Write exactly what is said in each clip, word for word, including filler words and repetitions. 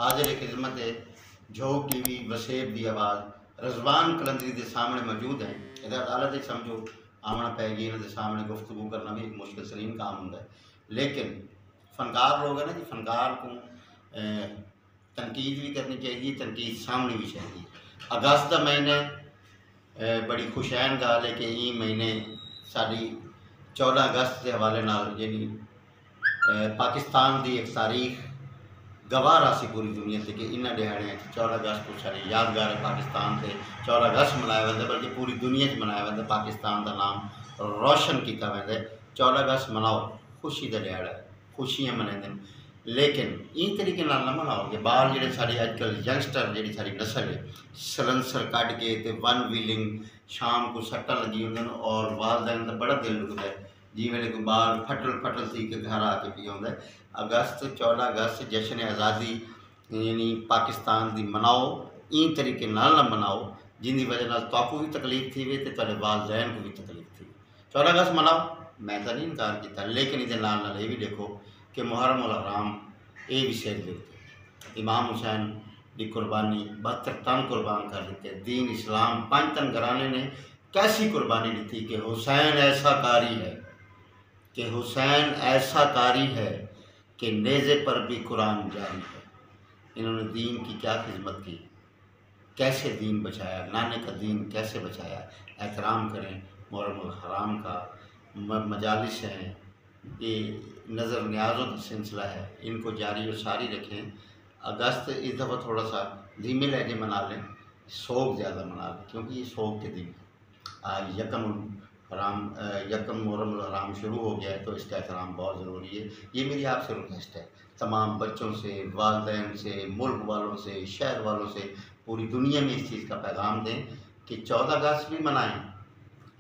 حاضر خدمت ہے۔ جھوک ٹی وی وسیب دی آواز رضوان قلندری دے سامنے موجود ہیں۔ ادا عدالت وچ سمجھو آوݨا پئے گی، انہاں دے سامنے گفتگو کرنا بھی ایک مشکل ترین کام ہوندا ہے۔ لیکن فنکار لوگ ہیں نا جی، فنکار کو تنقید بھی کرنی چاہیے، تنقید سامنے بھی چاہیے۔ اگست دا مہینہ ہے، بڑی خوشین گال ہے کہ ایں مہینے ساڈی چودہ اگست دے حوالے نال یعنی پاکستان دی ایک تاریخ گواہ راسی پوری دنیا تے کہ انہاں ݙیہاڑیاں چ چودہ اگست کو ساݙے یادگار پاکستان تے چودہ اگست منایا ویندا، بلکہ پوری دنیا چ منایا ویندا۔ پاکستان دا نام روشن کیتا ویندا۔ چودہ اگست مناؤ، خوشی دا ݙیہاڑا ہے، خوشیاں منیندن، لیکن ایں طریقے نال نہ مناؤ کہ ٻال جیڑھے ساݙے اڄ کل ینگسٹر، جیڑھی ساݙی نسل ہے، سلنسر کڈھ کے تے ون ویلنگ، شام کو سٹاں لگی ہوندن اور والدین دا بڑا دل ݙکھدا ہے جی ویلے کوئی ٻال پھٹل پھٹل تھی کے گھر آ کے پیا ہوندا ہے۔ اگست، چودہ اگست جشن آزادی یعنی پاکستان دی مناؤ، ایں طریقے نال نہ مناؤ جن دی وجہ نال تہاکوں وی تکلیف تھیوے تے تہاݙے والدین کوں وی تکلیف تھیوے۔ چودہ اگست مناؤ، میں تاں نہیں انکار کیتا، لیکن ایندے نال نال اے وی ݙیکھو کہ محرم الحرام اے وی سر دے اتے امام حسین دی قربانی، بہتر تن قربان کر ݙتے، دین اسلام پنج تن گھرانے نے کیسی قربانی ݙتی کہ حسین ایسا قاری ہے، کہ حسین ایسا قاری ہے کہ نیزے پر بھی قرآن جاری ہے۔ انہوں نے دین کی کیا خدمت کی، کیسے دین بچایا، نانے کا دین کیسے بچایا۔ احترام کریں محرم الحرام کا۔ م- مجالس ہیں، یہ نظر نیازوں کا سلسلہ ہے، ان کو جاری و ساری رکھیں۔ اگست اس دفعہ تھوڑا سا دھیمے لہجے منا لیں، سوگ زیادہ منا لیں، کیونکہ یہ سوگ کے دن ہیں۔ آج یکم الحرام، یکم محرم الحرام شروع ہو گیا ہے، تو اس کا احترام بہت ضروری ہے۔ یہ میری آپ سے ریکویسٹ ہے، تمام بچوں سے، والدین سے، ملک والوں سے، شہر والوں سے، پوری دنیا میں اس چیز کا پیغام دیں کہ چودہ اگست بھی منائیں،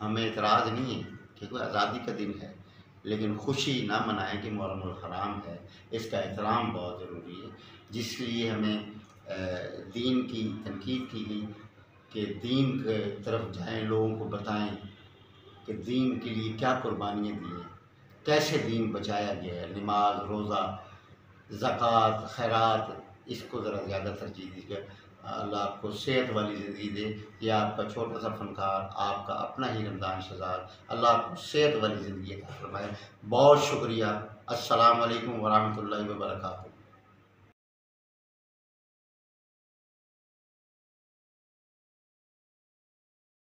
ہمیں اعتراض نہیں ہے، کیونکہ آزادی کا دن ہے، لیکن خوشی نہ منائیں کہ محرم الحرام ہے۔ اس کا احترام بہت ضروری ہے، جس کے لیے ہمیں دین کی تنقید کی گئی کہ دین کے طرف جائیں، لوگوں کو بتائیں کہ دین کے لیے کیا قربانیاں دی ہیں، کیسے دین بچایا گیا ہے۔ نماز، روزہ، زکوٰۃ، خیرات، اس کو ذرا زیادہ ترجیح دیجیے۔ اللہ آپ کو صحت والی زندگی دے۔ یہ آپ کا چھوٹا سا فنکار، آپ کا اپنا ہی رمضان شہزاد، اللہ آپ کو صحت والی زندگی عطا فرمائے۔ بہت شکریہ۔ السلام علیکم ورحمۃ اللہ وبرکاتہ۔